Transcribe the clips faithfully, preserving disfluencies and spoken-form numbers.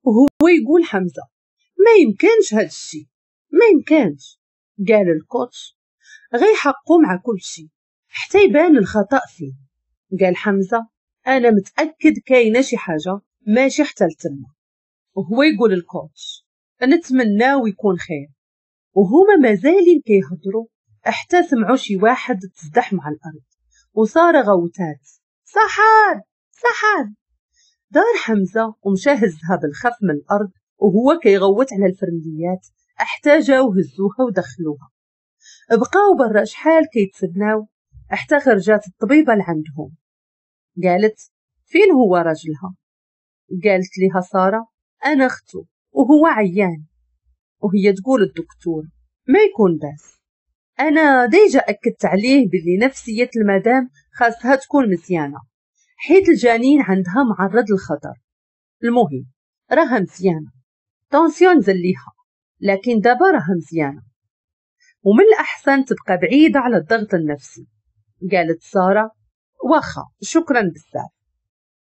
وهو يقول حمزة ما يمكنش هاد الشيء، ما يمكنش. قال ال coach غيحققوا مع كل شيء حتى يبان الخطأ فيه. قال حمزة أنا متأكد كاينة شي حاجة ماشي حتى لتما. وهو يقول ال coach نتمناو يكون خير. وهما مازالين كيهضروا حتى سمعوا شي واحد تزدح مع الأرض وصار غوتات سحر سحر. دار حمزة ومشى هزها بالخف من الأرض وهو كيغوت على الفرمليات حتى جاو هزوها ودخلوها. بقاو برا شحال كيتسناو حتى خرجات الطبيبة لعندهم. قالت فين هو راجلها؟ قالت لها سارة أنا أخته وهو عيان. وهي تقول الدكتور ما يكون باس، أنا déjà أكدت عليه باللي نفسية المدام خاصها تكون مزيانة حيت الجنين عندها معرض للخطر. المهم راها مزيانة، tension نزل ليها لكن دابا راها مزيانة، ومن الأحسن تبقى بعيدة على الضغط النفسي. قالت سارة واخا شكرا بزاف.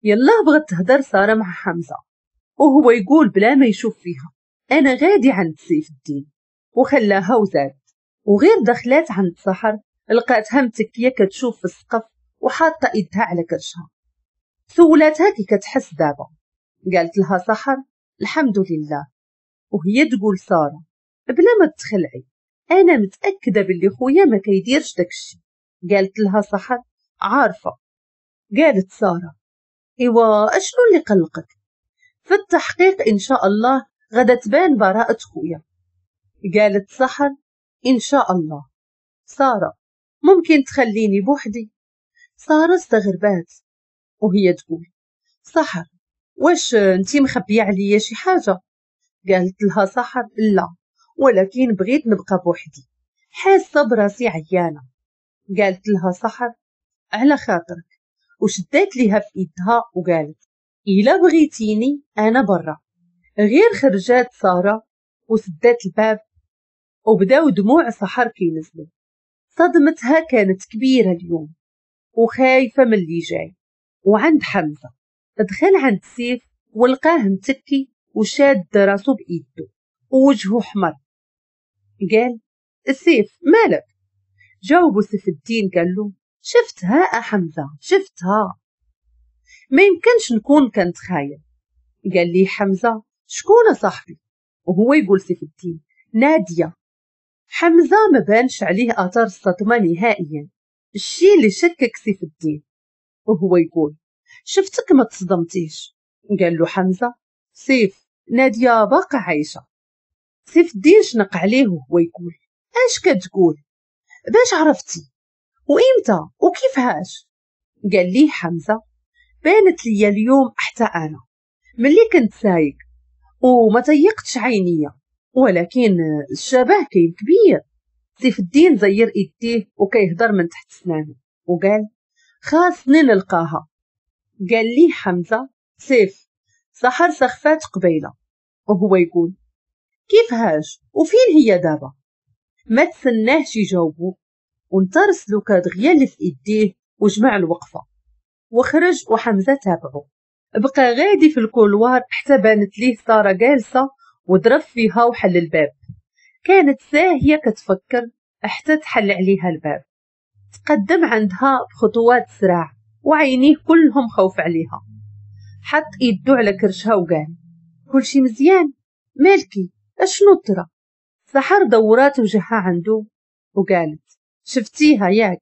يلا بغت تهدر سارة مع حمزة وهو يقول بلا ما يشوف فيها أنا غادي عند سيف الدين، وخلاها وزاد. وغير دخلات عند سحر لقاتها متكية كتشوف في السقف وحاطة ايدها على كرشها. سولاتها كي كتحس دابا. قالت لها سحر الحمد لله. وهي تقول سارة بلا ما تخلعي أنا متأكدة باللي خويا ما كيديرش داكشي. قالت لها سحر عارفة. قالت سارة إيوا أشنو اللي قلقك؟ في التحقيق إن شاء الله غدا تبان براءة خويا. قالت سحر إن شاء الله. سارة ممكن تخليني بوحدي؟ سارة استغربات وهي تقول سحر واش انتي مخبية عليا شي حاجة؟ قالت لها سحر لا، ولكن بغيت نبقى بوحدي، حاسة براسي عيانة. قالت لها سحر على خاطرك، وشدات ليها في ايدها وقالت إلا بغيتيني أنا برا. غير خرجات سارة وسدات الباب وبداو دموع سحر كينزلوا. صدمتها كانت كبيرة اليوم وخايفة من اللي جاي. وعند حمزة دخل عند سيف ولقاه متكي وشاد راسو بإيده ووجهه حمر. قال السيف مالك؟ جاوبه سيف الدين قال له شفتها أحمزة شفتها، ما يمكنش نكون كنتخايل. قال لي حمزة شكون صاحبي؟ وهو يقول سيف الدين نادية. حمزة ما بانش عليه آثار الصدمة نهائيا، الشيء اللي شكك سيف الدين. وهو يقول شفتك ما تصدمتيش. قال له حمزة سيف نادية باقا عايشة. سيف الدين شنق عليه وهو يقول اش كتقول؟ باش عرفتي؟ وإمتى؟ وكيفاش؟ قال لي حمزة بانت لي اليوم حتى أنا ملي كنت سايق وما تيقتش عينيا، ولكن الشبه كاين كبير. سيف الدين زير ايديه وكيهضر من تحت سنانه وقال خاصني نلقاها. قال لي حمزة سيف سحر سخفات قبيلة. وهو يقول كيفهاش وفين هي دابا؟ ما تسناهش يجاوبو وانترس له كادغيا اللي في ايديه وجمع الوقفة وخرج وحمزة تابعه. بقى غادي في ال couloir حتى بانت ليه سارة جالسة وضرب فيها وحل الباب. كانت ساهية كتفكر حتى تحل عليها الباب. تقدم عندها بخطوات سرعة وعينيه كلهم خوف عليها. حط ايدو على كرشها وقال كلشي مزيان، مالكي اشنو ترى؟ سحر دورات وجهها عنده وقالت شفتيها ياك؟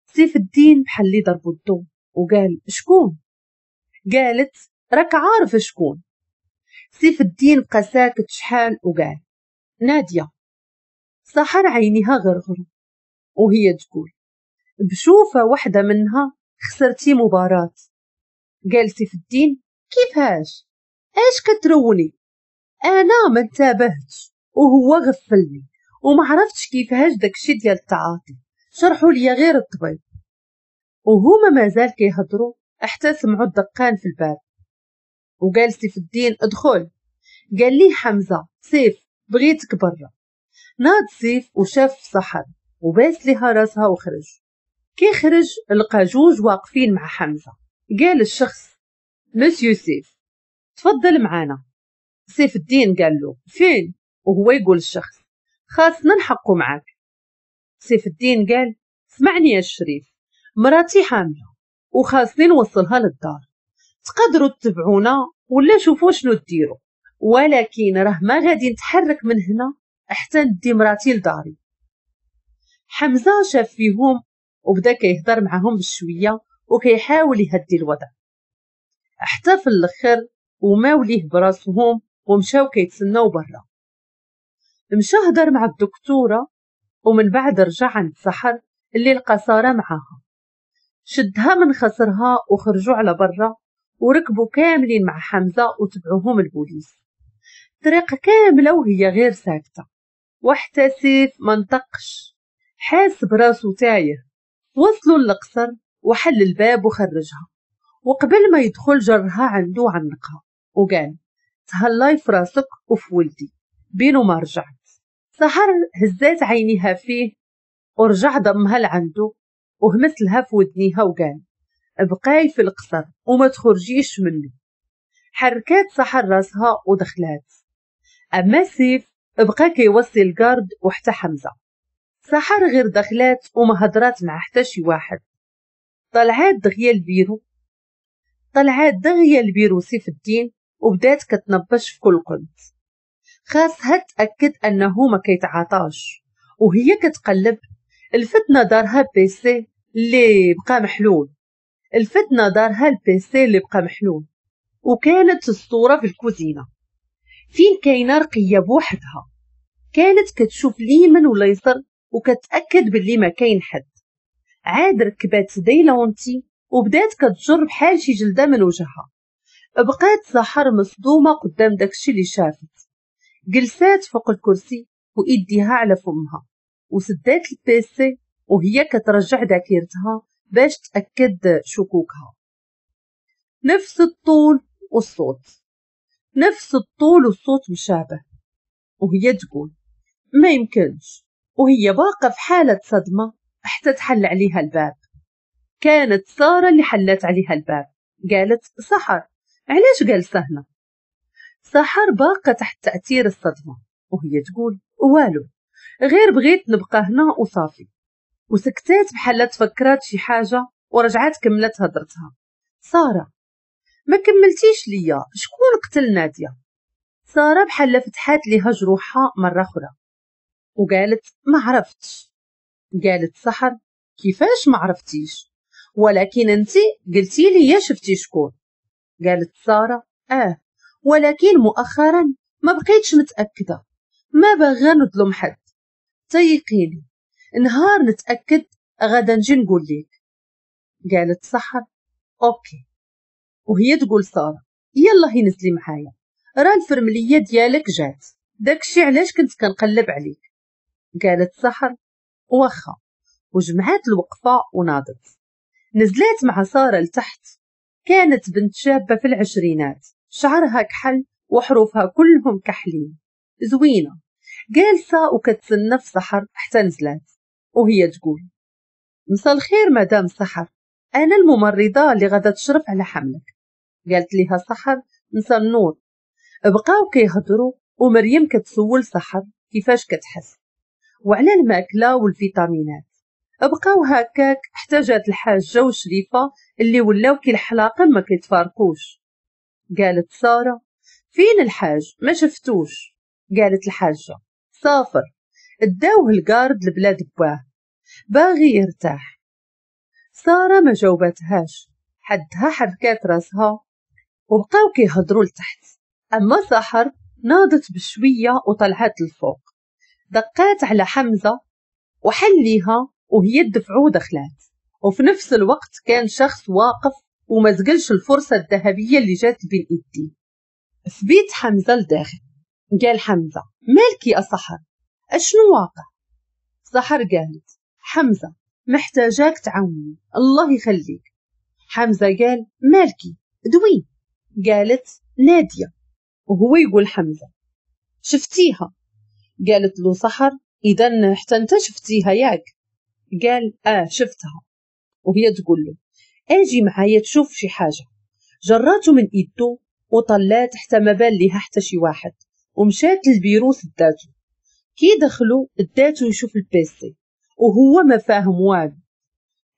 سيف الدين بحال اللي ضربو الضو وقال شكون؟ قالت راك عارف شكون. سيف الدين بقى ساكت شحال وقال نادية. سحر عينيها غرغروا وهي تقول بشوفة واحدة منها خسرتي مباراة. قال سيف الدين كيفاش؟ اش كتروني؟ انا ما انتبهتش وهو غفلني وما عرفتش كيفاش داكشي ديال التعاطي، شرحوا لي غير الطبيب. وهما مازال كيهضروا حتى سمعوا الدقان في الباب وقال سيف الدين ادخل. قال لي حمزة سيف بغيتك برا. ناض سيف وشاف سحر وباس لها راسها وخرج. كي خرج لقى جوج واقفين مع حمزة. قال الشخص مسيو سيف تفضل معانا. سيف الدين قال له فين؟ وهو يقول الشخص خاصنا نحقو معاك. سيف الدين قال اسمعني يا الشريف، مراتي حاملة وخاصني نوصلها للدار، تقدروا تتبعونا ولا شوفوا شنو ديروا، ولكن راه ما غادي نتحرك من هنا حتى ندي مراتي لداري. حمزة شاف فيهم وبدا كيهضر معاهم بشوية وكيحاول يهدي الوضع، حتى في الاخر وماو ليه براسهم ومشاو كيتسناو برا. مشى هضر مع الدكتورة ومن بعد رجع عند سحر اللي لقى ساره معاها، شدها من خصرها وخرجوا على برا وركبوا كاملين مع حمزة وتبعوهم البوليس. طريقه كاملة وهي غير ساكته، وحتى سيف ما نطقش، حاس براسو تايه. وصلوا للقصر وحل الباب وخرجها، وقبل ما يدخل جرها عنده وعنقها وقال تهلاي في راسك وفي ولدي بينو ما رجعت. سحر هزات عينيها فيه ورجع ضمها لعنده وهمس لها في ودنيها وقال بقاي في القصر وما تخرجيش منه. حركات سحر راسها ودخلات. اما سيف بقى كيوصي ال garde وحتى حمزة. سحر غير دخلات وما هضرات مع حتى شي واحد. طلعات دغيا البيرو طلعات دغيا البيرو سيف الدين وبدات كتنبش في كل قنت، خاصها تأكد انه ما كيتعاطاش. وهي كتقلب الفتنة دارها PC اللي بقى محلول، الفتنة دارها ال PC اللي بقى محلول، وكانت الصورة في الكوزينة فين كاينه رقيه بوحدها. كانت كتشوف اليمين ولا يسر وكتأكد باللي ما كاين حد. عاد ركبات des lentilles وبدات كتجر بحال شي جلده من وجهها. بقات سحر مصدومة قدام داكشي اللي شافت. جلسات فوق الكرسي وايديها على فمها وسدات ال PC وهي كترجع ذاكرتها باش تأكد شكوكها. نفس الطول والصوت، نفس الطول والصوت مشابه. وهي تقول ما يمكنش، وهي باقة في حالة صدمة حتى تحل عليها الباب. كانت سارة اللي حلت عليها الباب. قالت سحر علاش جالسة هنا؟ سحر باقة تحت تأثير الصدمة وهي تقول والو، غير بغيت نبقى هنا وصافي. وسكتات بحال تفكرات شي حاجة ورجعات كملت هضرتها. سارة ما كملتيش ليا، شكون قتل نادية؟ سارة بحال فتحات ليها جروحها مرة أخرى وقالت ما عرفتش. قالت سحر كيفاش ما عرفتيش؟ ولكن انت قلتي لي شفتي شكون. قالت سارة اه، ولكن مؤخرا ما بقيتش متأكدة، ما باغا نظلم حد، تيقيني نهار نتأكد غدا نجي نقول لك. قالت سحر OK. وهي تقول سارة يلا هي نزلي معايا، راه الفرملية ديالك جات، داكشي علاش كنت كنقلب عليك. قالت سحر واخا، وجمعات الوقفة وناضت. نزلات مع سارة لتحت. كانت بنت شابة في العشرينات، شعرها كحل وحروفها كلهم كحلين، زوينة، جالسة وكتسنى في سحر حتى نزلات وهي تقول مساء الخير مدام سحر، أنا الممرضة اللي غادا تشرف على حملك. قالت لها سحر مساء النور. بقاو كيهضروا ومريم كتسول سحر كيفاش كتحس وعلى الماكلة والفيتامينات. بقاو هكاك حتى جات الحاجة وشريفة اللي ولاو كي الحلاقة ما كيتفارقوش. قالت سارة فين الحاج ما شفتوش؟ قالت الحاجة سافر، اداوة ال garde لبلاد بواه، باغي يرتاح. سارة ما جاوبتهاش، حدها حركات راسها وبقاو كيهضروا لتحت. اما سحر ناضت بشوية وطلعت للفوق، دقات على حمزة وحليها وهي تدفعو ودخلات. وفي نفس الوقت كان شخص واقف وما زقلش الفرصة الذهبية اللي جات بين ايديه. في بيت حمزة لداخل قال حمزة مالك يا سحر، اشنو واقع؟ سحر قالت حمزة محتاجاك تعاوني الله يخليك. حمزة قال مالكي دوي؟ قالت نادية. وهو يقول حمزة شفتيها؟ قالت له سحر اذا حتى انت شفتيها ياك؟ قال اه شفتها. وهي تقول له اجي معايا تشوف شي حاجة. جراته من ايدو وطلات حتى ما بان ليها حتى شي واحد، ومشات للبيرو سداتو. كي دخلوا داتو يشوف ال PC وهو ما فاهم والو،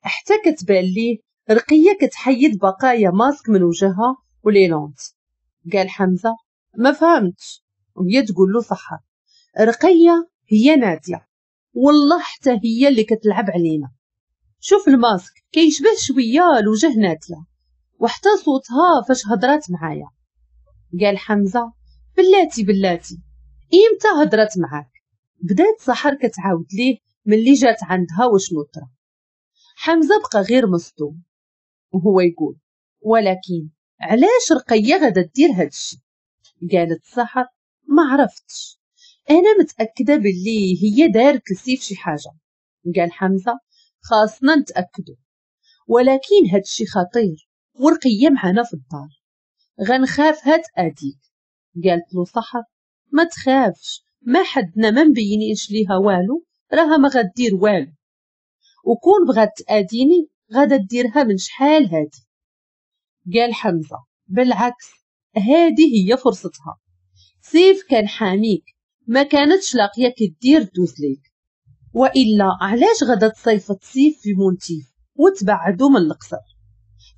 حتى كتبان ليه رقيه كتحيد بقايا ماسك من وجهها و les lentilles. قال حمزة ما فهمتش، وهي تقول له سحر رقيه هي ناديه، والله حتى هي اللي كتلعب علينا. شوف الماسك كيشبه شوية لوجه ناديه، وحتى صوتها فاش هضرات معايا. قال حمزة بلاتي بلاتي، امتى هضرات معاك؟ بدات سحر كتعاود ليه ملي جات عندها وشنو طرا. حمزة بقى غير مصدوم وهو يقول ولكن علاش رقيه غادا دير هادشي؟ قالت سحر ما عرفتش، انا متاكدة باللي هي دارت لسيف شي حاجة. قال حمزة خاصنا نتاكدوا، ولكن هادشي خطير ورقية معنا في الدار، غنخافها تاديك. قالت له سحر ما تخافش، ما حدنا ما مبينينش ليها والو، راها ما غدير والو، وكون بغات تاديني غادا ديرها من شحال هادي. قال حمزة بالعكس، هادي هي فرصتها، سيف كان حاميك، ما كانتش لاقيه كدير دوز ليك، والا علاش غادا تصيفط سيف في مونتيف وتبعدو من القصر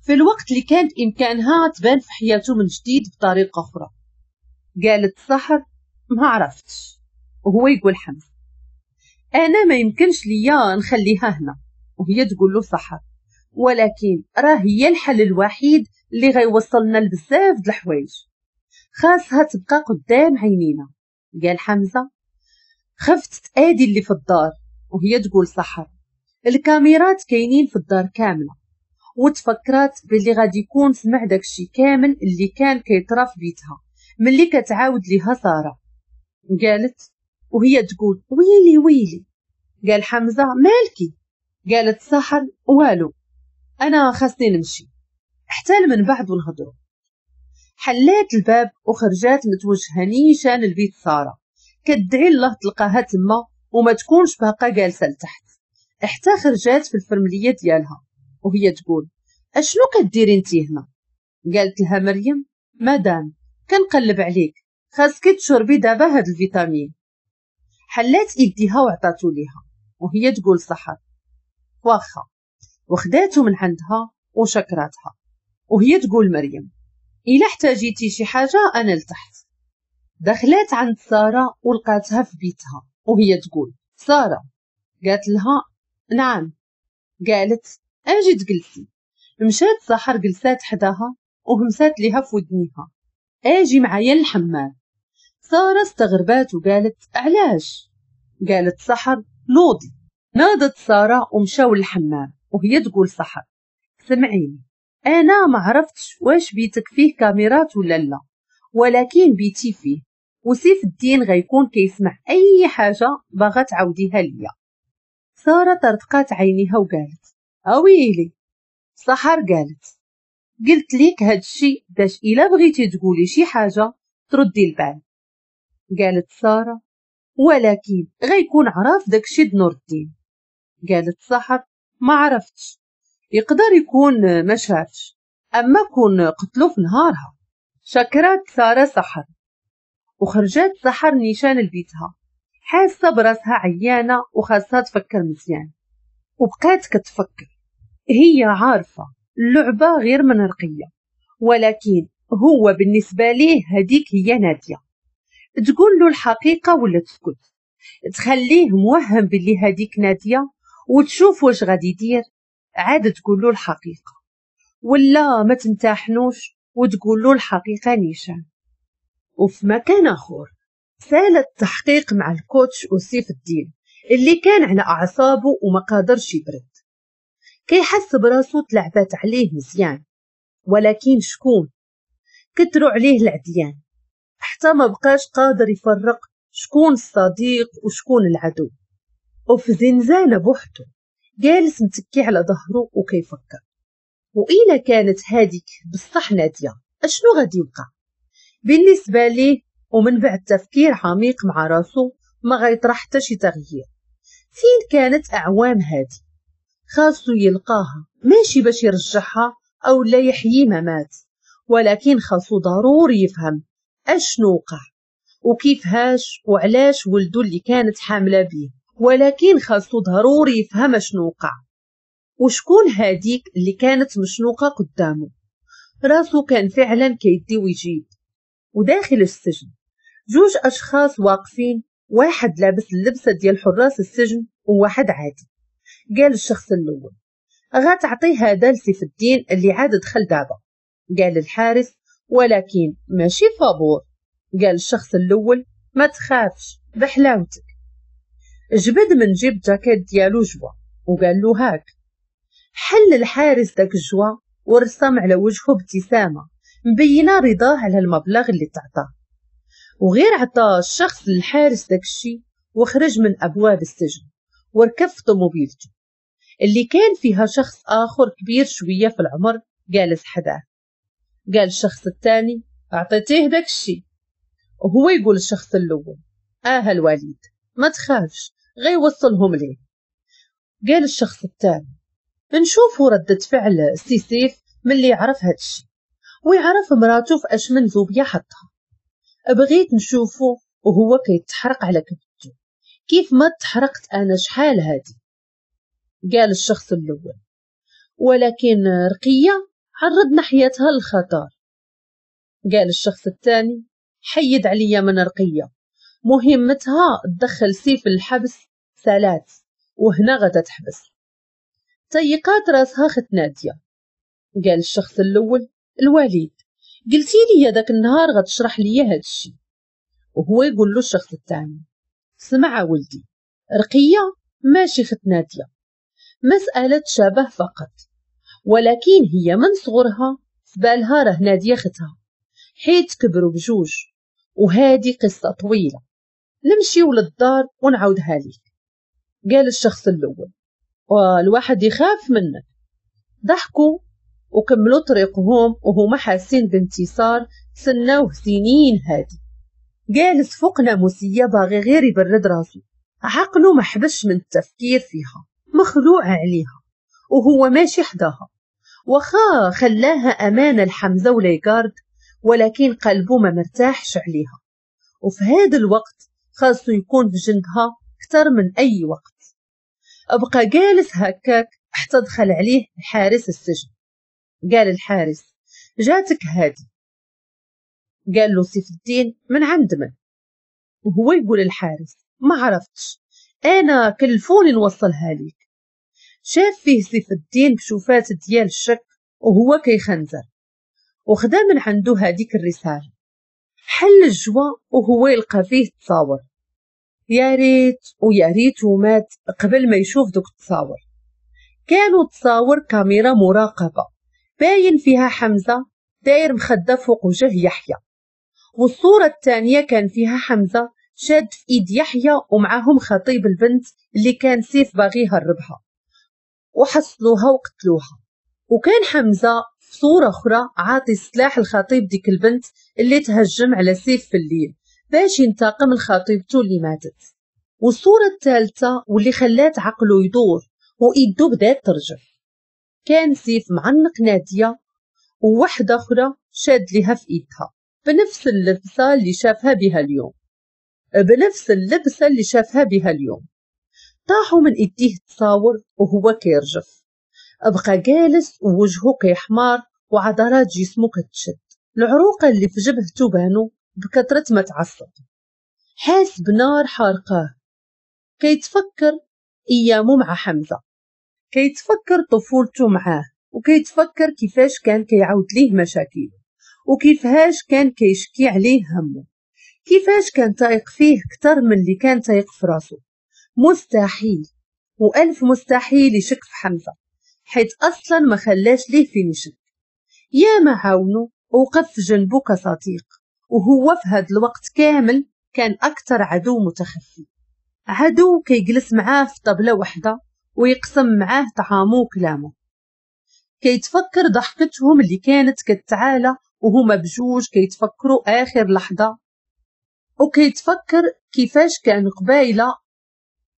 في الوقت اللي كانت امكانها تبان في حياته من جديد بطريقة اخرى. قالت سحر ما عرفتش، وهو يقول حمزة انا ما يمكنش ليا نخليها هنا، وهي تقول له سحر ولكن راه هي الحل الوحيد اللي غيوصلنا لبزاف د الحوايج، خاصها تبقى قدام عينينا. قال حمزة خفت تادي اللي في الدار، وهي تقول سحر الكاميرات كاينين في الدار كاملة، وتفكرات باللي غادي يكون سمع داكشي كامل اللي كان كيطرا في بيتها ملي كتعاود ليها ساره. قالت وهي تقول ويلي ويلي. قال حمزة مالكي؟ قالت سحر والو، انا خاصني نمشي حتى من بعد ونهضروا. حلات الباب وخرجات متوجهه نيشان لبيت ساره، كدعي الله تلقاها تما وما تكونش باقا جالسة لتحت. حتى خرجات في الفرمليه ديالها وهي تقول اشنو كديري انتي هنا؟ قالت لها مريم مدام كنقلب عليك، خاصك تشربي دابا هاد الفيتامين. حلات ايديها وعطاتو ليها وهي تقول سحر واخا، وخداتو من عندها وشكراتها. وهي تقول مريم الا احتاجيتي شي حاجة انا لتحت. دخلات عند ساره ولقاتها في بيتها وهي تقول ساره. قالت لها نعم. قالت اجي تجلسي. مشات سحر جلسات حداها وهمسات ليها في ودنيها اجي معايا للحمام. ساره استغربات وقالت علاش؟ قالت سحر نوضي. ناضت ساره ومشاو للحمام وهي تقول سحر سمعيني، انا ما عرفتش واش بيتك فيه كاميرات ولا لا، ولكن بيتي فيه، وسيف الدين غيكون كيسمع اي حاجة باغا تعاوديها ليا. ساره طرطقات عينيها وقالت اويلي. سحر قالت قلت ليك هادشي باش الا بغيتي تقولي شي حاجة تردي البال. قالت ساره ولكن غيكون عرف داكشي د نور الدين. قالت سحر ما عرفتش، يقدر يكون ما شافش، اما كون قتلو في نهارها. شكرات ساره سحر وخرجات سحر نيشان لبيتها، حاسه براسها عيانه وخاصها تفكر مزيان. وبقات كتفكر، هي عارفه اللعبة غير من رقيه، ولكن هو بالنسبة ليه هذيك هي ناديه. تقول له الحقيقة ولا تسكت، تخليه موهم باللي هذيك ناديه وتشوف واش غادي يدير، عاد تقول له الحقيقة، ولا ما تمتحنوش وتقول له الحقيقة نيشان. وفي مكان اخر سال التحقيق مع الكوتش وسيف الدين اللي كان على اعصابه وما قادرش يبرد، كيحس براسو تلعبات عليه مزيان، ولكن شكون كتروا عليه العديان حتى ما بقاش قادر يفرق شكون الصديق وشكون العدو. وفي زنزانة بوحده جالس متكي على ظهره وكيفكر، وإلا كانت هاديك بصح نادية اشنو غادي يوقع بالنسبة ليه؟ ومن بعد تفكير عميق مع راسو ما غيطرح حتى شي تغيير. فين كانت أعوام هادي؟ خاصو يلقاها، ماشي باش يرجعها أو لا يحيي ما مات، ولكن خاصو ضروري يفهم اشنو وقع وكيفهاش وعلاش ولدو اللي كانت حامله بيه، ولكن خاصو ضروري يفهم اشنو وقع وشكون هاديك اللي كانت مشنوقه قدامه. راسو كان فعلا كيدي ويجيب. وداخل السجن جوج اشخاص واقفين، واحد لابس اللبسه ديال حراس السجن وواحد عادي. قال الشخص الاول غتعطي هذا لسيف الدين اللي عاد دخل دابا. قال الحارس ولكن ماشي فابور. قال الشخص الاول ما تخافش بحلاوتك. جبد من جيب جاكيت ديالو جوا وقال له هاك. حل الحارس داك الجوا ورسم على وجهه ابتسامة مبينة رضاه على المبلغ اللي تعطاه. وغير عطاه الشخص للحارس داك الشي وخرج من ابواب السجن وركب في طوموبيلته اللي كان فيها شخص اخر كبير شوية في العمر جالس حداه. قال الشخص الثاني اعطيتيه داك الشي. وهو يقول الشخص الاول اه الوليد ما تخافش غيوصلهم ليه. قال الشخص الثاني نشوفوا ردة فعل سي سيف ملي يعرف هادشي ويعرف مراته في اش من زوبيه حطها. بغيت نشوفه وهو كيتحرق على كبدته كيف ما تحرقت انا شحال هادي. قال الشخص الاول ولكن رقيه عرضنا حياتها للخطر. قال الشخص الثاني حيد عليا من رقيه، مهمتها تدخل سيف الحبس سالات وهنا غدا تحبس. تيقات راسها خت ناديه. قال الشخص الاول الوليد قلتي لي داك النهار غتشرح لي هادشي. وهو يقول له الشخص الثاني سمع ولدي، رقيه ماشي خت ناديه، مسألة شبه فقط، ولكن هي من صغرها فبالها راه ناديه ختها حيت كبروا بجوج، وهادي قصة طويلة نمشيو للدار ونعاودها ليك. قال الشخص الأول والواحد يخاف منك. ضحكوا وكملوا طريقهم وهما حاسين بانتصار تسناوه سنين هادي. جالس فوق ناموسية باغي غير يبرد راسو، عقله ما حبش من التفكير فيها، مخلوع عليها وهو ماشي حداها. وخا خلاها أمانة لحمزة وليغارد، ولكن قلبه ما مرتاحش عليها، وفي هذا الوقت خاصو يكون في جنبها أكثر من أي وقت. أبقى جالس هكاك حتى دخل عليه حارس السجن. قال الحارس جاتك هادي. قال له سيف الدين من عند من؟ وهو يقول الحارس ما عرفتش، أنا كلفوني نوصلها ليك. شاف فيه سيف الدين بشوفات ديال الشك وهو كيخنزر، وخدا من عنده هذيك الرسالة. حل الجوا وهو يلقى فيه تصاور. يا ريت ويا ريت ومات قبل ما يشوف دوك التصاور. كانوا تصاور كاميرا مراقبة باين فيها حمزة داير مخدة فوق وجه يحيى، والصورة الثانية كان فيها حمزة شاد في ايد يحيى ومعاهم خطيب البنت اللي كان سيف باغي يهربها، وحصلوها وقتلوها. وكان حمزة في صورة أخرى عاطي السلاح لخطيب ديك البنت اللي تهجم على سيف في الليل باش ينتقم لخطيبته اللي ماتت. والصورة الثالثة واللي خلات عقله يدور وإيده بدات ترجف، كان سيف معنق نادية ووحدة أخرى شاد لها في إيدها بنفس اللبسة اللي شافها بها اليوم بنفس اللبسة اللي شافها بها اليوم. طاحوا من إيديه تصاور وهو كيرجف. أبقى جالس ووجهه كيحمار وعضلات جسمه كتشد، العروقة اللي في جبهته بانو بكثرة ما تعصب، حاس بنار حارقاه. كيتفكر أيامه مع حمزة، كيتفكر طفولته معاه، وكيتفكر كيفاش كان كيعاود ليه مشاكله، وكيفاش كان كيشكي عليه همه، كيفاش كان تايق فيه كتر من اللي كان تايق في راسه. مستحيل وألف مستحيل يشك في حمزة، حيث أصلا ما خلاش ليه فين يشك. يا ما عاونو وقف في جنبو كصديق، وهو في هذا الوقت كامل كان أكثر عدو متخفي، عدو كيجلس معاه في طبلة وحدة ويقسم معاه طعامه وكلامه. كيتفكر ضحكتهم اللي كانت كتعالى وهما بجوج كيتفكروا آخر لحظة، وكيتفكر كيفاش كان قبايلة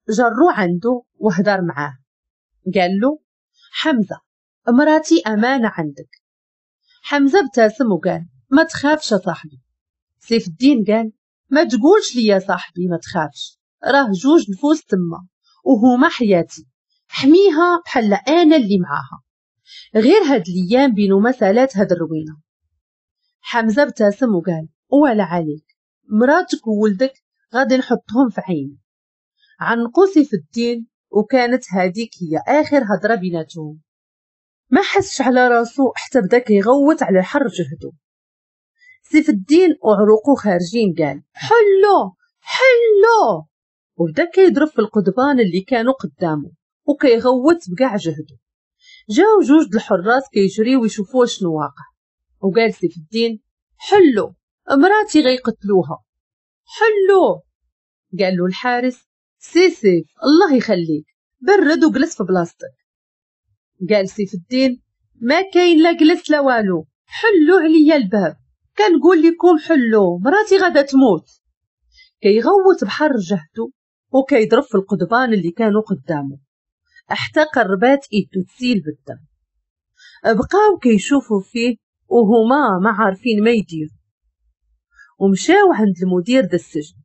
جرو عنده وهدر معاه. قال له حمزة مراتي أمانة عندك. حمزة ابتسم وقال ما تخافش يا صاحبي. سيف الدين قال ما تقولش لي يا صاحبي ما تخافش، راه جوج نفوس تما وهما حياتي، حميها بحال انا اللي معاها. غير هاد الايام بينو مسالات هاد الروينه. حمزة ابتسم وقال ولا عليك، مراتك وولدك غادي نحطهم في عيني. عنقو سيف الدين وكانت هذيك هي اخر هضره بيناتهم. ما حسش على راسو حتى بدا كيغوت على حر جهدو. سيف الدين وعروقو خارجين قال حلو حلو، وبدا كيضرب في القضبان اللي كانوا قدامه وكيغوت بكاع جهدو. جاو جوج د الحراس كيجريو ويشوفوا شنو واقع، وقال سيف الدين حلو مراتي غيقتلوها حلو. قال له الحارس سي سيف الله يخليك برد وجلس في بلاصتك. قال سيف الدين ما كاين لا جلس لا والو، حلو عليا الباب، كنقول لكم حلو مراتي غادا تموت. كيغوت بحر جهدو وكيضرب في القضبان اللي كانوا قدامه حتى قربات ايدو تسيل بالدم. بقاو كيشوفوا فيه وهما ما عارفين ما يديروا، ومشاو عند المدير د السجن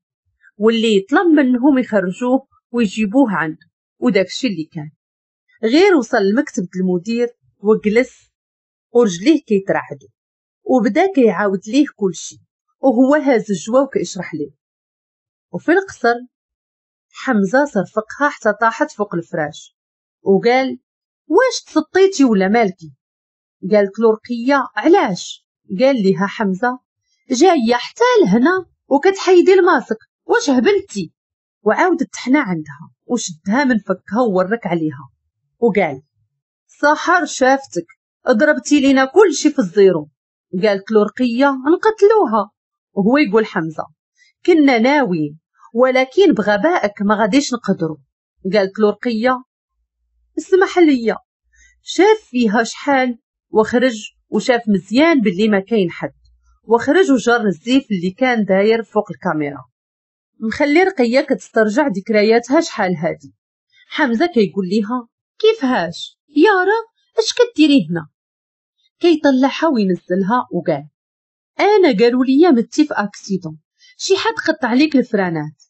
واللي طلب منهم يخرجوه ويجيبوه عنده، وداكشي اللي كان. غير وصل لمكتب المدير وجلس ورجليه كيترعدوا وبدا كيعاود ليه كلشي وهو هاز الجوا وكيشرح ليه. وفي القصر حمزة صرفقها حتى طاحت فوق الفراش وقال واش تسطيتي ولا مالكي؟ قالت له رقية علاش؟ قال لها حمزة جاية حتى لهنا وكتحيدي الماسك، واش هبلتي؟ وعاودت تحنى عندها وشدها من فكها وورك عليها وقال سحر شافتك ضربتي لينا كل شي في ال zéro. قالت له رقية نقتلوها، وهو يقول حمزة كنا ناويين ولكن بغبائك ما غاديش نقدروا. قالت له رقية اسمح لي. شاف فيها شحال وخرج وشاف مزيان باللي ما كاين حد، وخرج وجر الزيف اللي كان داير فوق الكاميرا مخلي رقية كتسترجع ذكرياتها شحال هادي. حمزة كيقول ليها كيفهاش يارا اش كديري هنا؟ كيطلعها وينزلها وقال انا قالوا لي متي في accident، شي حد قطع عليك الفرانات.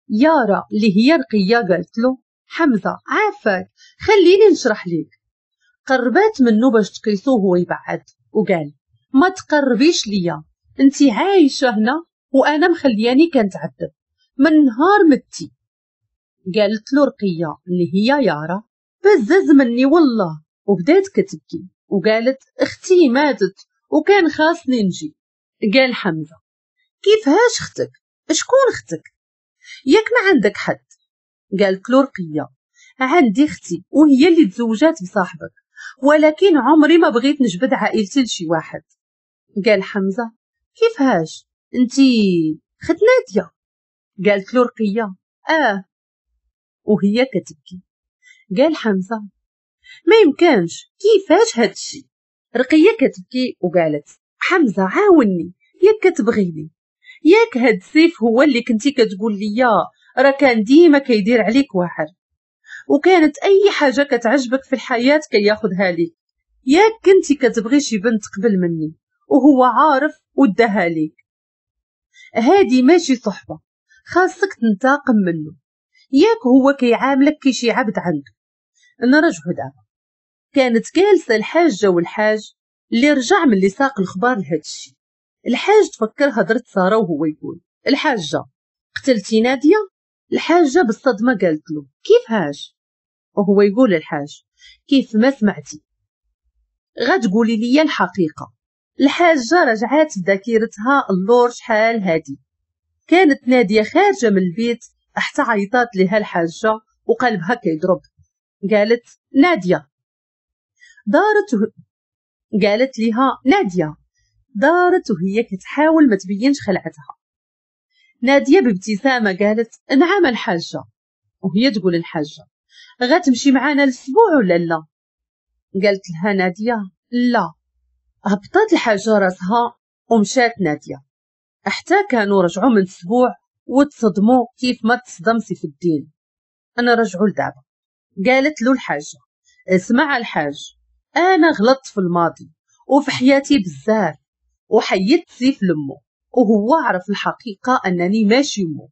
يارا اللي هي رقية قالت له حمزة عافاك خليني نشرح ليك. قربات منه باش تقيسوه وهو يبعد وقال ما تقربيش ليا، انتي عايشه هنا وانا مخلياني كنتعذب من نهار متي. قالت له رقية اللي هي يارا بزز مني والله، وبدات كتبكي وقالت اختي ماتت وكان خاصني نجي. قال حمزة كيفهاش اختك؟ شكون اختك؟ ياك ما عندك حد؟ قالت له رقية عندي اختي وهي اللي تزوجات بصاحبك، ولكن عمري ما بغيت نجبد عائلتي لشي واحد. قال حمزة كيفهاش انتي خت نادية؟ قالت له رقية اه، وهي كتبكي. قال حمزة ما يمكنش كيفاش هادشي؟ رقية كتبكي وقالت حمزة عاوني، ياك كتبغيني، ياك هاد السيف هو اللي كنتي كتقول ليا راه كان ديما كيدير عليك واحد، وكانت اي حاجة كتعجبك في الحياة كياخدها ليك، ياك كنتي كتبغي شي بنت قبل مني وهو عارف وداها ليك. هادي ماشي صحبه، خاصك تنتقم منه، ياك هو كيعاملك كي شي عبد عنده. نرجعو دابا. كانت جالسة الحاجة والحاج اللي رجع من اللي ساق الخبار لهادشي. الحاج تفكر هضره ساره وهو يقول الحاجة قتلتي ناديه؟ الحاجة بالصدمة قالت له كيفاش؟ وهو يقول الحاج كيف ما سمعتي غتقولي لي الحقيقة. الحاجة رجعات بذاكرتها اللور شحال هادي. كانت ناديه خارجه من البيت حتى عيطات لها الحاجة وقلبها كيضرب. قالت ناديه. دارت و... قالت لها ناديه. دارت وهي كتحاول ما تبينش خلعتها. ناديه بابتسامة قالت نعم الحاجة. وهي تقول الحاجة غتمشي معانا الاسبوع ولا لا؟ قالت لها ناديه لا. هبطت الحاجة راسها ومشات ناديه حتى كانوا رجعوا من السبوع وتصدموا كيف ما تصدم سيف الدين. انا رجعوا لدابا. قالت له الحاجة اسمع الحاج، انا غلطت في الماضي وفي حياتي بزاف، وحيدت سيف لمو وهو عرف الحقيقة أنني ماشي مو،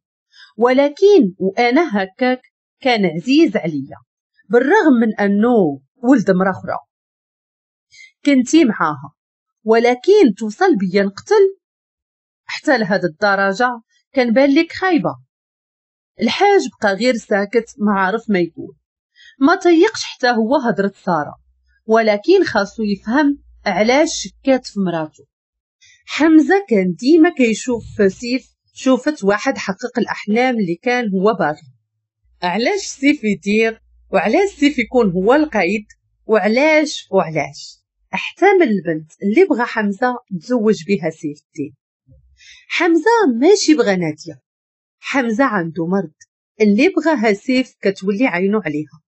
ولكن وأنا هكاك كان عزيز عليا بالرغم من أنه ولد مرا أخرى كنتي معاها، ولكن توصل بيا نقتل حتى لهاد الدرجة كان بان لك خايبة. الحاج بقى غير ساكت ما عارف ما يقول، ما طيقش حتى هو هضرة سارة، ولكن خاصو يفهم علاش شكات في مراته. حمزة كان ديما كيشوف في سيف شوفت واحد حقق الأحلام اللي كان هو باغي. علاش سيف يدير، وعلاش سيف يكون هو القائد، وعلاش وعلاش حتى من البنت اللي بغى حمزة تزوج بها سيف الدين. حمزة ماشي بغى نادية، حمزة عنده مرض اللي بغاها سيف كتولي عينو عليها،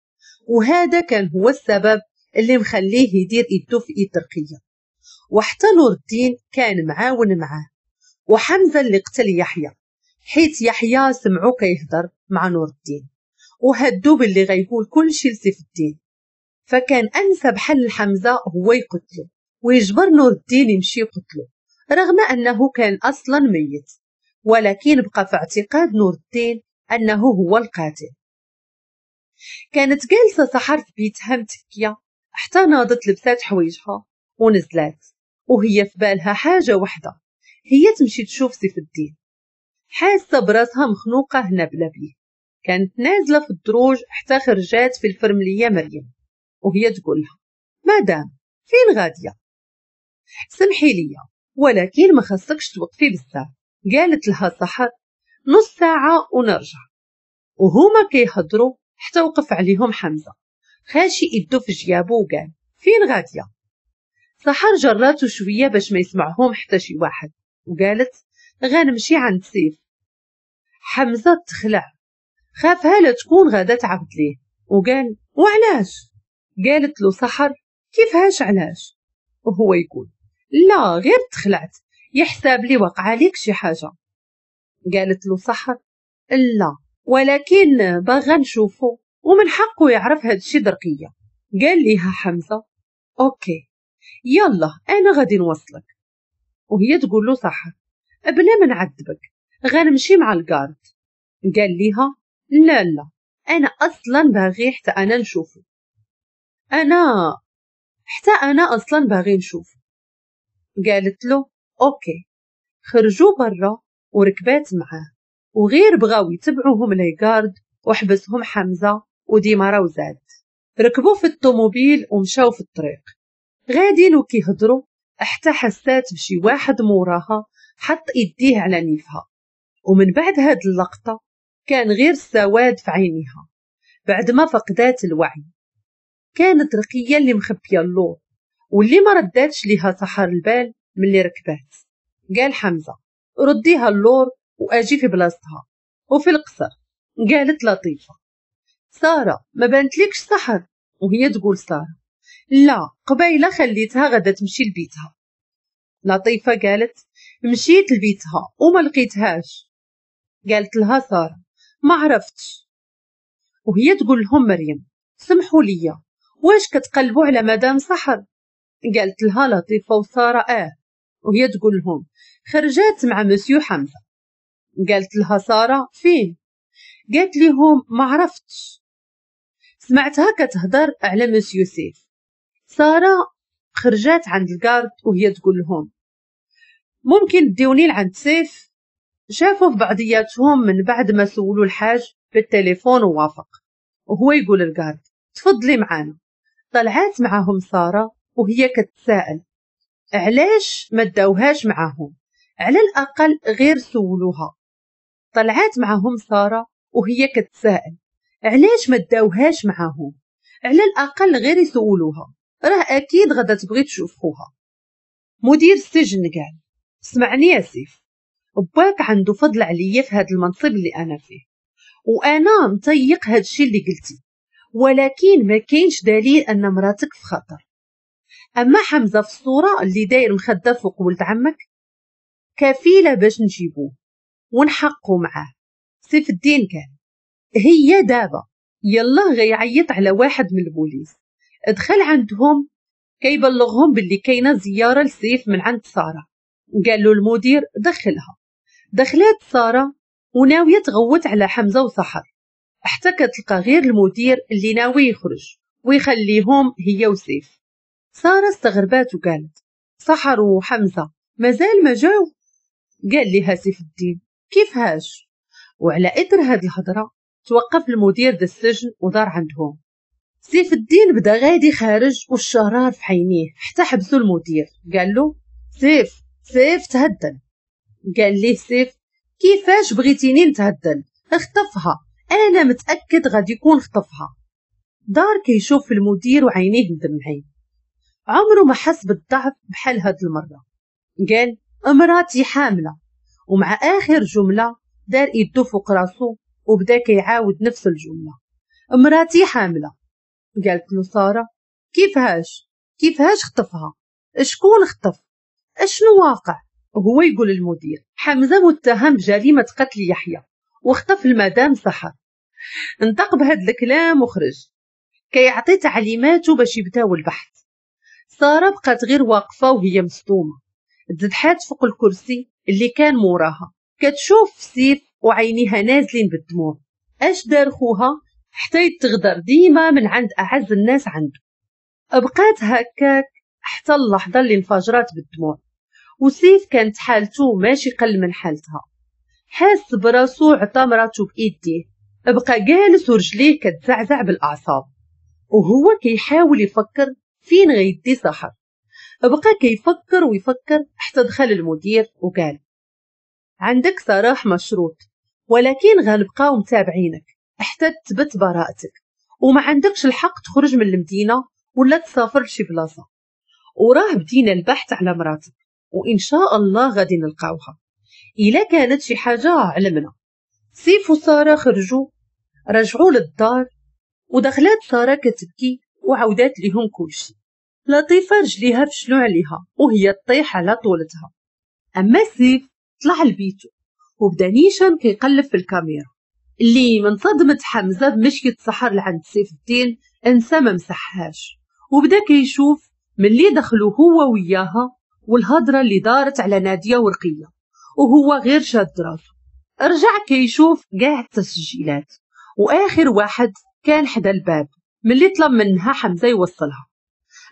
وهذا كان هو السبب اللي مخليه يدير ايدو في ايد رقية. وحتى نور الدين كان معاون معاه، وحمزة اللي قتل يحيى حيت يحيى سمعو كيهضر مع نور الدين وهدو باللي غيقول كل شيء لسيف الدين، فكان انسب حل حمزة هو يقتله ويجبر نور الدين يمشي يقتله رغم انه كان اصلا ميت، ولكن بقى في اعتقاد نور الدين انه هو القاتل. كانت جالسة سحر في بيتها متكيه حتى ناضت لبسات حوايجها ونزلات، وهي في بالها حاجة وحده، هي تمشي تشوف سيف الدين. حاسه براسها مخنوقه هنا بلا بيه. كانت نازله في الدروج حتى خرجات في الفرمليه مريم وهي تقولها مدام فين غادية؟ سمحي لي ولكن ما خصكش توقفي بزاف. قالت لها سحر نص ساعة ونرجع. وهما كيهضروا حتى وقف عليهم حمزة خاشي يدو في جيابو وقال فين غادية؟ سحر جراتو شوية باش ما يسمعهم حتى شي واحد وقالت غنمشي عند سيف. حمزة تخلع، خافها لا تكون غادا تعبد ليه، وقال وعلاش؟ قالت له سحر كيفهاش علاش؟ وهو يقول لا غير تخلعت، يحساب لي وقع عليك شي حاجة. قالت له سحر لا ولكن باغا نشوفو ومن حقه يعرف هادشي درقيه. قال ليها حمزة OK يلا انا غادي نوصلك. وهي تقول له سحر بلا ما نعذبك غنمشي مع ال garde. قال ليها لا لا انا اصلا باغي حتى انا نشوفو، انا حتى انا اصلا باغي نشوفو. قالت له OK. خرجوا برا وركبات معاه، وغير بغاو يتبعوهم les gardes وحبسهم حمزة وديمارا وزاد. ركبوا في الطوموبيل ومشاو في الطريق غادين وكيهضروا حتى حسات بشي واحد موراها حط ايديه على نيفها، ومن بعد هاد اللقطة كان غير السواد في عينيها بعد ما فقدات الوعي. كانت رقية اللي مخبية اللور واللي ما رداتش ليها سحر البال ملي ركبات. قال حمزة رديها اللور واجي في بلاصتها وفي القصر. قالت لطيفة سارة ما بانتلكش سحر؟ وهي تقول سارة لا قبيلة خليتها غدا تمشي لبيتها. لطيفة قالت مشيت لبيتها وما لقيتهاش. قالت لها سارة ما عرفتش. وهي تقول لهم مريم سمحوا لي واش كتقلبوا على مدام سحر؟ قالت لها لطيفة وسارة اه. وهي تقول لهم خرجات مع مسيو حمزة. قالت لها سارة فين؟ قالت لهم ما عرفتش، سمعتها كتهضر على مسيو سيف. سارة خرجات عند ال garde وهي تقول لهم ممكن ديوني لعند سيف؟ شافوا في بعضياتهم من بعد ما سولوا الحاج بالتليفون ووافق، وهو يقول ال garde تفضلي معانا. طلعات معاهم سارة وهي كتساءل علاش ما داوهاش معاهم، على الأقل غير سولوها. طلعات معاهم سارة وهي كتساءل علاش ما داوهاش معاهم، على الأقل غير يسولوها، راه أكيد غدا تبغي تشوف خوها. مدير السجن قال اسمعني يا سيف، باك عنده فضل عليا في هذا المنصب اللي أنا فيه، وأنا مطيق هذا الشيء اللي قلتي، ولكن ما كاينش دليل أن مراتك في خطر. أما حمزة في الصورة اللي داير مخدة فوق ولد عمك كفيلة باش نجيبوه ونحقو معاه. سيف الدين كان هي دابا يلا غيعيط على واحد من البوليس، دخل عندهم كيبلغهم باللي كاينه زيارة لسيف من عند ساره. قال له المدير دخلها. دخلات ساره وناويه تغوت على حمزة وسحر، حتى كتلقى غير المدير اللي ناوي يخرج ويخليهم هي وسيف. ساره استغربات وقالت سحر وحمزة مازال ما جاو؟ قال لها سيف الدين كيفهاش؟ وعلى اثر هاد الهضرة توقف المدير د السجن ودار عندهم. سيف الدين بدا غادي خارج والشرار في عينيه حتى حبسو المدير. قال له سيف سيف تهدن. قال ليه سيف كيفاش بغيتيني نتهدن؟ اخطفها، انا متاكد غادي يكون خطفها. دار كيشوف في المدير وعينيه مدمعين، عمره ما حس بالضعف بحال هاد المرة. قال امراتي حامله، ومع اخر جملة دار ايدو فوق راسو وبدا كيعاود نفس الجملة، امراتي حامله. قالت له ساره كيفاش كيفاش خطفها؟ شكون خطف؟ اشنو واقع؟ وهو يقول المدير حمزة متهم بجريمة قتل يحيى وخطف المدام سحر. انطق بهذا الكلام وخرج كيعطي تعليماته باش يبداو البحث. ساره بقات غير واقفة وهي مصدومة، تزدحات فوق الكرسي اللي كان موراها كتشوف سيف وعينيها نازلين بالدموع. اش دار خوها حتى يتغدر ديما من عند اعز الناس عنده؟ بقات هكاك حتى اللحظة اللي انفجرات بالدموع. وسيف كانت حالته ماشي قل من حالتها، حاس براسو عطى مراتو بايديه، بقى جالس ورجليه كتزعزع بالاعصاب وهو كيحاول يفكر فين غيدي سحر. بقى كيفكر ويفكر حتى دخل المدير وقال عندك سراح مشروط، ولكن غنبقاو متابعينك حتى تثبت براءتك، وما عندكش الحق تخرج من المدينة ولا تسافر لشي بلاصة، وراه بدينا البحث على مراتك وان شاء الله غادي نلقاوها، الا كانت شي حاجة علمنا. سيف وسارة خرجوا رجعوا للدار ودخلات ساره كتبكي وعودات لهم كلشي. لطيفة رجليها فشلوا عليها وهي تطيح على طولتها. اما سيف طلع لبيته وبدا نيشان كيقلب في الكاميرا اللي من صدمة حمزة بمشية سحر لعند سيف الدين انسى ما مسحهاش، وبدا كيشوف ملي دخلوا هو وياها والهضره اللي دارت على ناديه ورقية وهو غير شاد راسو. رجع كيشوف كاع التسجيلات واخر واحد كان حدا الباب ملي طلب منها حمزة يوصلها.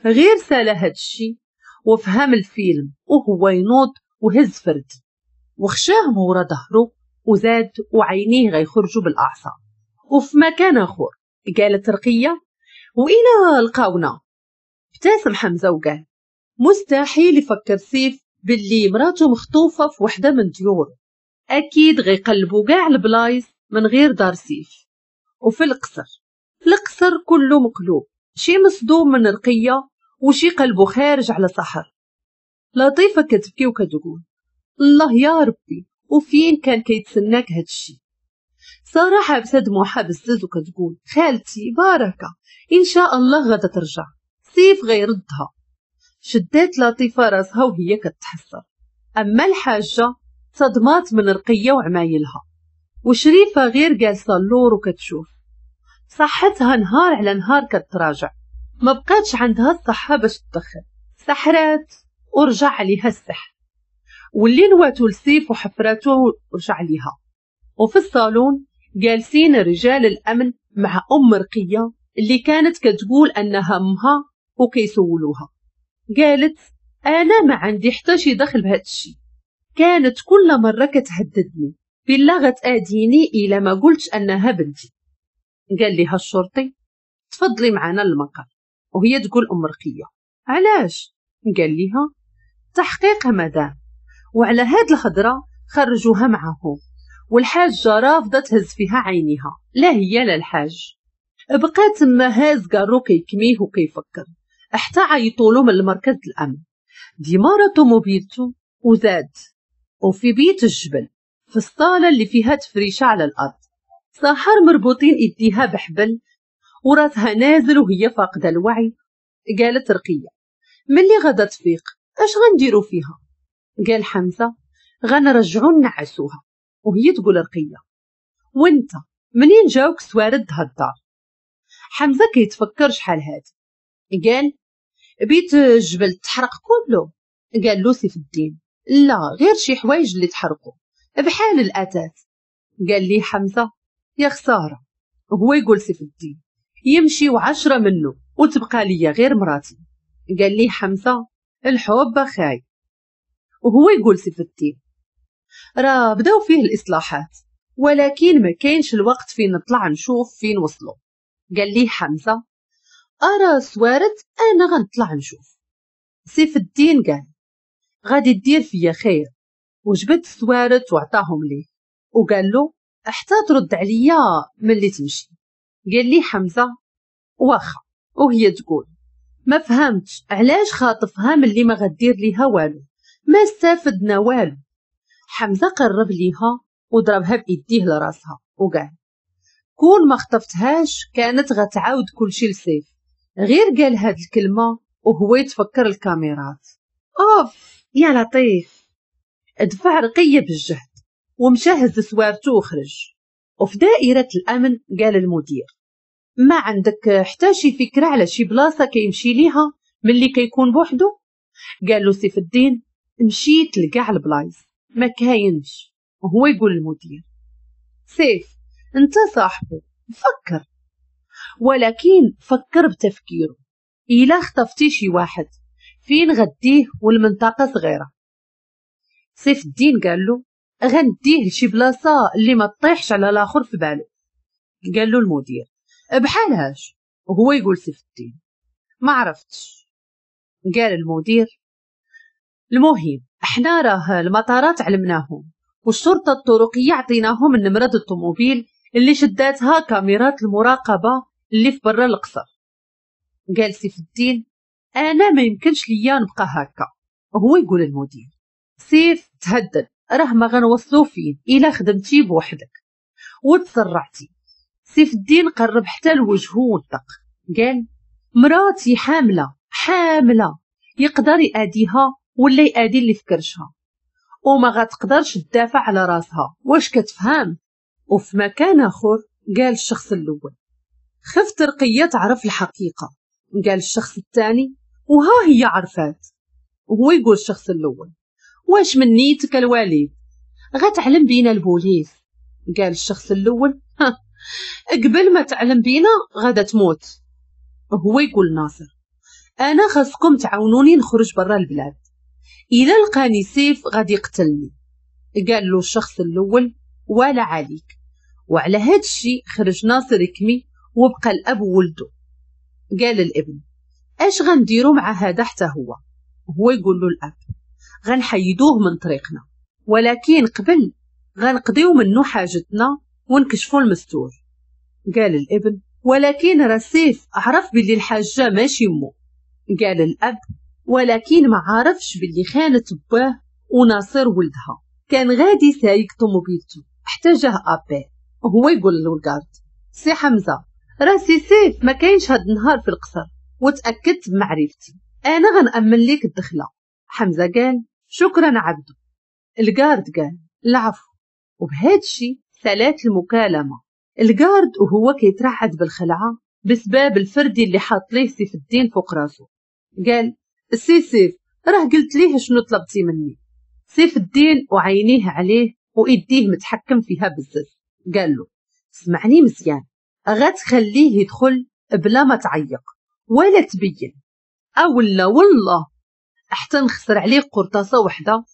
غير سالا هادشي وفهم الفيلم وهو ينوض وهز فرد وخشاه مورا ظهره وزاد وعينيه غيخرجوا بالاعصاب. وفي مكان اخر قالت رقيه والى لقاونا. ابتسم حمزة وقال مستحيل يفكر سيف باللي مراته مخطوفه في وحده من ديوره، اكيد غيقلبوا كاع البلايص من غير دار سيف. وفي القصر، القصر كله مقلوب، شي مصدوم من رقيه وشي قلبه خارج على سحر. لطيفة كتبكي وكتقول الله يا ربي وفين كان كيتسناك هادشي؟ ساره حابسه دموعها بزز وكتقول خالتي بركة ان شاء الله غادا ترجع، سيف غيردها. شدات لطيفة راسها وهي كتحسر. اما الحاجة صدمات من رقيه وعمايلها، وشريفه غير جالسة اللور وكتشوف صحتها نهار على نهار كتراجع، ما بقاتش عندها الصحة باش تدخل، سحرات ورجع عليها السحر واللي نواتو لسيف وحفراتو ورجع عليها. وفي الصالون جالسين رجال الامن مع ام رقيه اللي كانت كتقول انها امها وكيسولوها. قالت انا ما عندي حتى شي دخل بهذا الشيء، كانت كل مرة كتهددني بالله غتاديني الا ما قلتش انها بنتي. قال لها الشرطي تفضلي معنا للمقر، وهي تقول ام رقيه علاش؟ قال لها تحقيق مدام. وعلى هاد الهضرة خرجوها معهم، والحاجة رافضه تهز فيها عينيها، لا هي لا الحاج. بقى تما هاز كارو كيكميه وكيفكر حتى عيطولو من المركز الامن. ديمارا طوموبيلتو وزاد. وفي بيت الجبل في الصاله اللي فيها تفريشه على الارض، سحر مربوطين ايديها بحبل وراسها نازل وهي فاقده الوعي. قالت رقيه ملي غادا تفيق اش غنديرو فيها؟ قال حمزة غنرجعو نعسوها. وهي تقول رقيه وانت منين جاوك سوارد هالدار؟ حمزة كيتفكر شحال هادي، قال بيت الجبل تحرق كله؟ قال له سيف الدين لا، غير شي حوايج اللي تحرقوا بحال الاثاث. قال لي حمزة يا خسارة. وهو يقول سيف الدين يمشي وعشرة منه وتبقى لي غير مراتي. قال لي حمزة الحب خاي. وهو يقول سيف الدين راه بداو فيه الاصلاحات، ولكن ما كاينش الوقت فين نطلع نشوف فين وصلوا. قال لي حمزة ارى سوارت انا غنطلع نشوف. سيف الدين قال غادي دير فيا خير، وجبد السوارت وعطاهم ليه وقال له حتى ترد عليا ملي تمشي. قال لي حمزة واخا. وهي تقول ما فهمتش علاش خاطفها ملي ما غدير ليها والو، ما استفدنا والو. حمزة قرب ليها وضربها بايديه لراسها وقال كون ما خطفتهاش كانت غتعاود كلشي لسيف. غير قال هاد الكلمة وهو يتفكر الكاميرات. اوف يا لطيف. دفع رقيه بالجهد ومشى هز سوارته وخرج. وفي دائرة الامن قال المدير ما عندك حتى شي فكرة على شي بلاصة كيمشي ليها ملي كيكون بوحدو؟ قال له سيف الدين مشيت لكاع البلايص ما كاينش. وهو يقول المدير سيف انت صاحبه فكر، ولكن فكر بتفكيره. إلا خطفتي شي واحد فين غديه والمنطقة صغيرة؟ سيف الدين قال له غنديه لشي بلاصة اللي ما تطيحش على الاخر في باله. قال له المدير بحالهاش. وهو يقول سيف الدين ما عرفتش. قال المدير المهم احنا راه المطارات علمناهم، والشرطة الطرقيه عطيناهم النمرة الطوموبيل اللي شداتها كاميرات المراقبة اللي في برا القصر. قال سيف الدين انا ما يمكنش ليا نبقى هكا. وهو يقول المدير سيف تهدد، راه ما غنوصلو فين الا خدمتي بوحدك وتسرعتي. سيف الدين قرب حتى لوجهه ونطق قال مراتي حامله حامله، يقدر يأديها ولا يأدي اللي في كرشها، وما غتقدرش تدافع على راسها، واش كتفهم؟ وفي مكان اخر قال الشخص الاول خفت رقيه تعرف الحقيقة. قال الشخص الثاني وها هي عرفات. وهو يقول الشخص الاول واش من نيتك الوالد غتعلم بينا البوليس؟ قال الشخص الاول ها قبل ما تعلم بينا غادا تموت. وهو يقول ناصر انا خاصكم تعاونوني نخرج برا البلاد، الا لقاني سيف غادي يقتلني. قال له الشخص الاول ولا عليك. وعلى هاد الشيء خرج ناصر يكمي وبقى الاب وولده. قال الابن اش غنديرو مع هذا حتى هو؟ هو يقول له الاب غنحيدوه من طريقنا، ولكن قبل غنقضيو منه حاجتنا ونكشفو المستور. قال الابن ولكن راه سيف عرف باللي الحاجة ماشي مو. قال الاب ولكن ما عارفش باللي خانت باه وناصر ولدها. كان غادي سايق طوموبيلته حتى جاه appel. وهو يقول له ال garde سي حمزة راه سي سيف ما كاينش هاد النهار في القصر، وتاكدت بمعرفتي، انا غنأمن ليك الدخلة. حمزة قال شكرا عبدو. ال garde قال العفو. وبهاد الشي سالات المكالمة. ال garde وهو كيترعد بالخلعه بسبب الفردي اللي حاط ليه سيف الدين فوق راسو قال سي سيف راه قلت ليه شنو طلبتي مني. سيف الدين وعينيه عليه وايديه متحكم فيها بزز قال له اسمعني مزيان، غتخليه يدخل بلا ما تعيق ولا تبين، او لا والله حتى نخسر عليه قرطاسه وحده.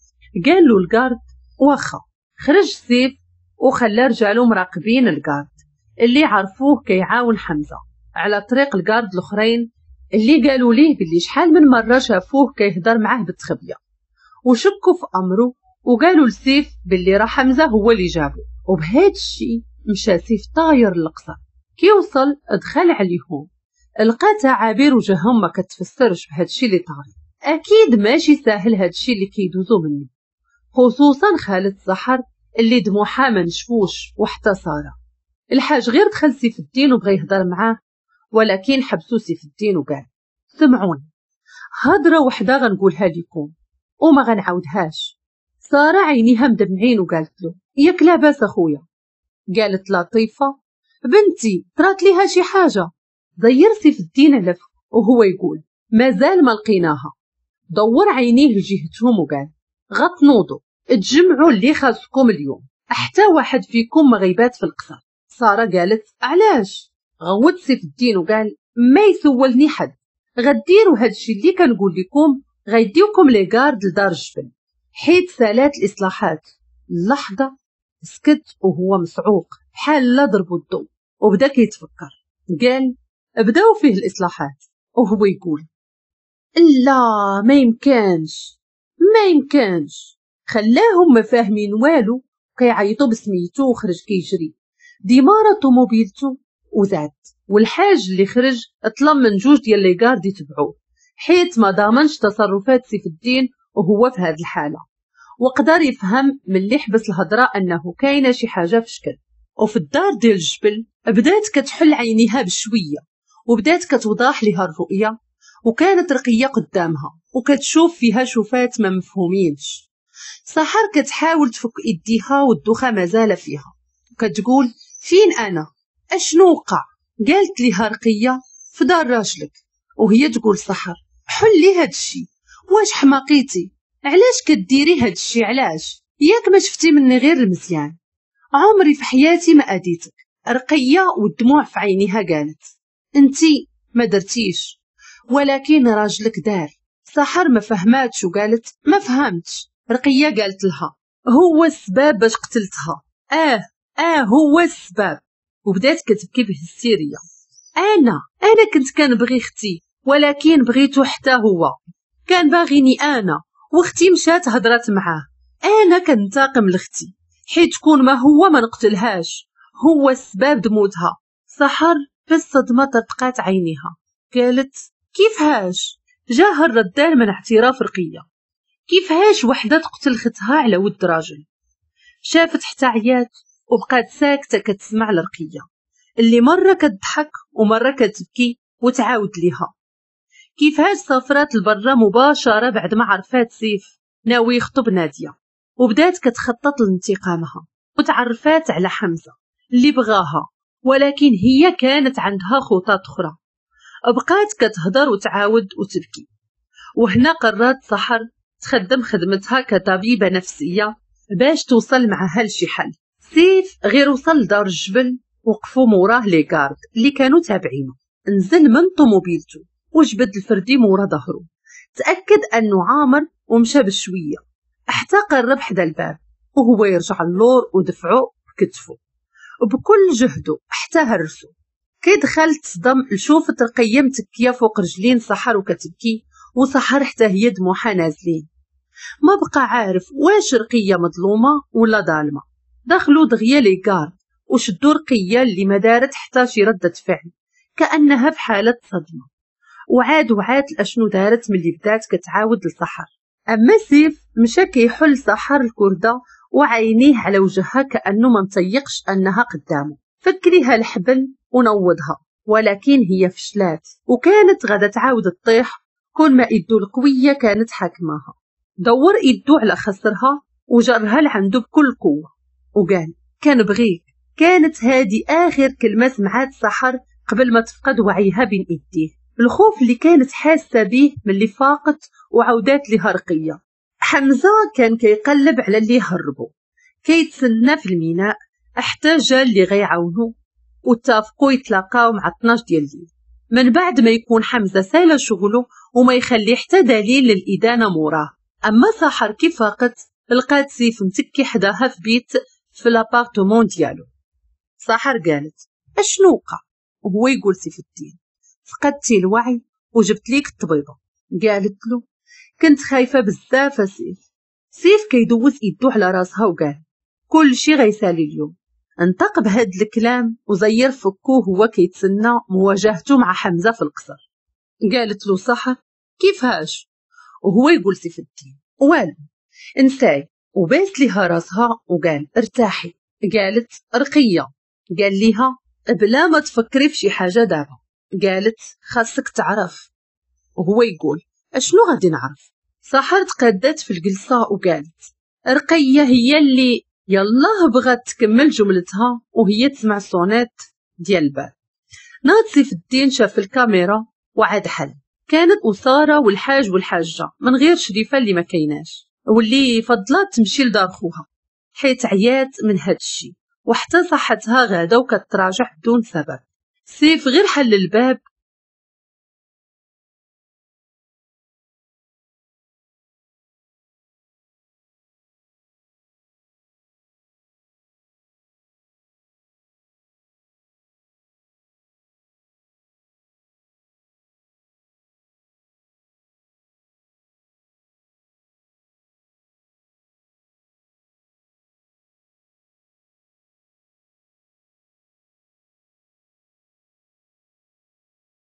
قال له ال garde واخا. خرج سيف وخلى رجالو مراقبين ال garde اللي عرفوه كيعاون حمزة على طريق ال garde الاخرين اللي قالوا ليه باللي شحال من مرة شافوه كيهضر معاه بالتخبيه، وشكوا في امره وقالوا لسيف باللي راه حمزة هو اللي جابه. وبهذا الشيء مشى سيف طاير للقصر. كي وصل دخل عليهم لقى تعابير وجههم ما كتفسرش بهذا الشيء اللي طاري. اكيد ماشي ساهل هذا الشيء اللي كيدوزو منه، خصوصا خالد سحر اللي دموعها ما نشفوش وحتى ساره. الحاج غير دخل سيف الدين وبغى يهضر معاه، ولكن حبسو سيف الدين وقال سمعوني هضره وحده غنقولها لكم وما غنعاودهاش. ساره عينيها مدمعين وقالت له ياك لاباس اخويا؟ قالت لطيفة بنتي طرات ليها شي حاجة. ضير سيف الدين على فمه وهو يقول مازال ما لقيناها. دور عينيه لجهتهم وقال غتنوضوا تجمعوا اللي خاصكم اليوم، حتى واحد فيكم ما غيبات في القصر. ساره قالت علاش؟ غوت سيف الدين وقال ما يسولني حد، غديروا هادشي اللي كنقول لكم، غيديوكم les gardes لدار الجبل حيت سالات الاصلاحات. اللحظة سكت وهو مصعوق بحال لا ضربوا الضوء، وبدا كيتفكر. قال بداو فيه الاصلاحات، وهو يقول لا ما يمكنش ما يمكنش. خلاهم ما فاهمين والو، كيعيطوا بسميتو وخرج كيجري ديمارة طوموبيلتو وزاد. والحاج اللي خرج طلب من جوج ديال les gardes يتبعوه حيت ما ضامنش تصرفات سيف الدين وهو في هذه الحالة، وقدر يفهم من اللي حبس الهضرة انه كاينه شي حاجة في شكل. وفي الدار ديال الجبل بدات كتحل عينيها بشوية وبدات كتوضح لها الرؤية، وكانت رقيه قدامها وكتشوف فيها شوفات ما مفهومينش. سحر كتحاول تفك ايديها والدوخه مازال فيها، وكتقول فين انا؟ اشنو وقع؟ قالت لها رقيه في دار راجلك. وهي تقول سحر حلي هادشي، واش حماقيتي؟ علاش كديري هادشي؟ علاش؟ ياك ما شفتي مني غير المزيان، عمري في حياتي ما اديتك. رقيه والدموع في عينيها قالت انتي ما درتيش ولكن راجلك دار. سحر ما فهماتش وقالت ما فهمتش. رقيه قالت لها هو السبب باش قتلتها، اه اه هو السبب. وبدات كتبكي بهستيريا، انا انا كنت كنبغي اختي ولكن بغيتو حتى هو، كان باغيني انا، واختي مشات هضرات معاه، انا كنتاقم لاختي حيت كون ما هو ما نقتلهاش، هو السبب دموتها. سحر بالصدمة طرقات عينيها، قالت كيفهاش؟ جاها الردان من اعتراف رقيه، كيفهاش وحده تقتل ختها على ود راجل؟ شافت حتى عيات وبقات ساكته كتسمع لرقيه اللي مرة كتضحك ومرة كتبكي وتعاود ليها كيفهاش سافرات لبرا مباشرة بعد ما عرفات سيف ناوي يخطب ناديه، وبدات كتخطط لانتقامها وتعرفات على حمزة اللي بغاها، ولكن هي كانت عندها خطط اخرى. بقات كتهضر وتعاود وتبكي. وهنا قررت سحر تخدم خدمتها كطبيبه نفسية باش توصل معها لشي حل. سيف غير وصل لدار الجبل وقفوا موراه les gardes اللي كانوا تابعينه، نزل من طوموبيلته وجبد الفردي مورا ظهره، تاكد انه عامر ومشى بشوية حتى قرب حدا الباب، وهو يرجع اللور ودفعه بكتفه وبكل جهده حتى هرسو. كي دخل تصدم لشوفة رقيه متكيه فوق رجلين سحر وكتبكي، وسحر حتى هي دموعها نازلين. ما بقى عارف واش رقيه مظلومة ولا ظالمه. دخلوا دغيا les gardes وشدوا رقيه اللي ما دارت حتى شي ردة فعل، كانها في حاله صدمة. وعاد وعاد لاشنو دارت ملي بدات كتعاود لسحر. اما سيف مشى كيحل سحر الكرده وعينيه على وجهها كانه ما مطيقش انها قدامه. فك ليها الحبل ونوضها، ولكن هي فشلات وكانت غادا تعاود تطيح كون ما ايدو القوية كانت حاكماها. دور ايدو على خصرها وجرها لعندو بكل قوة وقال كنبغيك. كانت هذه اخر كلمة سمعات سحر قبل ما تفقد وعيها بين ايديه. الخوف اللي كانت حاسه به ملي فاقت وعودات لها رقيه. حمزة كان كيقلب على اللي هربوا، كيتسنى في الميناء حتى جا اللي غيعاونو، واتفقوا يتلاقاو مع اثناش ديال الليل من بعد ما يكون حمزة سالا شغله وما يخلي حتى دليل للادانه موراه. اما سحر كي فاقت لقات سيف متكي حداها في بيت في l'appartement ديالو. سحر قالت اشنو وقع؟ وهو يقول سيف الدين فقدتي الوعي وجبت ليك الطبيبة. قالت له كنت خايفة بزاف سيف. سيف كيدوز ايدو على راسها وقال كل شي غيسالي اليوم. انطق بهاد الكلام وزير فكوه هو كيتسنى مواجهته مع حمزة في القصر. قالت له سحر كيفاش؟ وهو يقول سيف الدين والو انساي. وباس ليها راسها وقال ارتاحي. قالت رقيه. قال ليها بلا ما تفكري في شي حاجة دابا. قالت خاصك تعرف. وهو يقول اشنو غادي نعرف؟ سحر تقادات في الجلسة وقالت رقيه هي اللي يلاه بغات تكمل جملتها وهي تسمع sonnette ديال الباب. ناض سيف الدين شاف الكاميرا وعاد حل. كانت أسارة والحاج والحاجة من غير شريفة اللي ما كايناش، واللي فضلات تمشي لدار خوها حيت عيات من هاد الشيء، وحتى صحتها غادا وكتراجع بدون سبب. سيف غير حل الباب